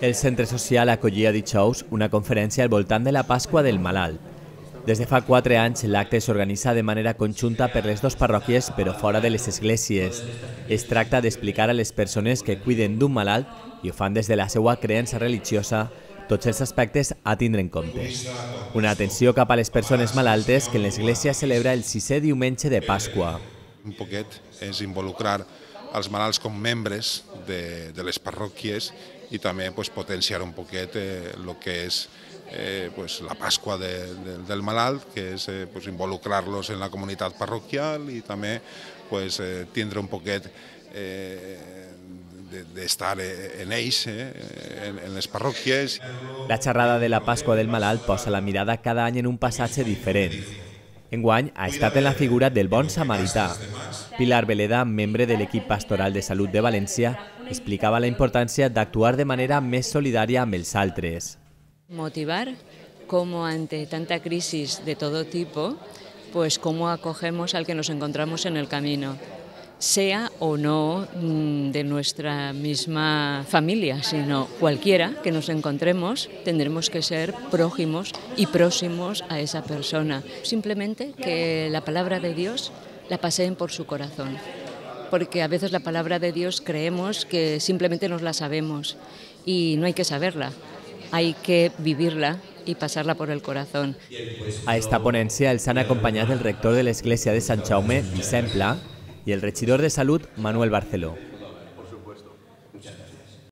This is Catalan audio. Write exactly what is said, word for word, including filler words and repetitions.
El centre social acollia dijous una conferència al voltant de la Pasqua del Malalt. Des de fa quatre anys, l'acte s'organitza de manera conjunta per les dues parròquies, però fora de les esglésies. Es tracta d'explicar a les persones que cuiden d'un malalt i ho fan des de la seva creença religiosa tots els aspectes a tindre en compte. Una atenció cap a les persones malaltes que en l'església celebra el sisè diumenge de Pasqua. Un poquet és involucrar els malalts com membres de, de les parròquies i també pues, potenciar un poquet el eh, que és eh, pues, la Pasqua de, de, del malalt, que és eh, pues, involucrar-los en la comunitat parroquial i també pues, eh, tindre un poquet eh, d'estar en ells, eh, en, en les parròquies. La xerrada de la Pasqua del Malalt posa la mirada cada any en un passatge diferent. Enguany ha estat en la figura del bon samarità. Pilar Veleda, membre de l'equip pastoral de salut de València, explicava la importància d'actuar de manera més solidària amb els altres. Motivar cómo ante tanta crisis de todo tipo, pues cómo acogemos al que nos encontramos en el camino, sea o no de nuestra misma familia, sino cualquiera que nos encontremos, tendremos que ser prójimos y próximos a esa persona. Simplemente que la palabra de Dios la paseen por su corazón, porque a veces la palabra de Dios creemos que simplemente nos la sabemos y no hay que saberla, hay que vivirla i passar-la por el corazón. A esta ponència els han acompanyat el rector de l'església de Sant Jaume, Vicent Pla, i el regidor de Salut, Manuel Barceló.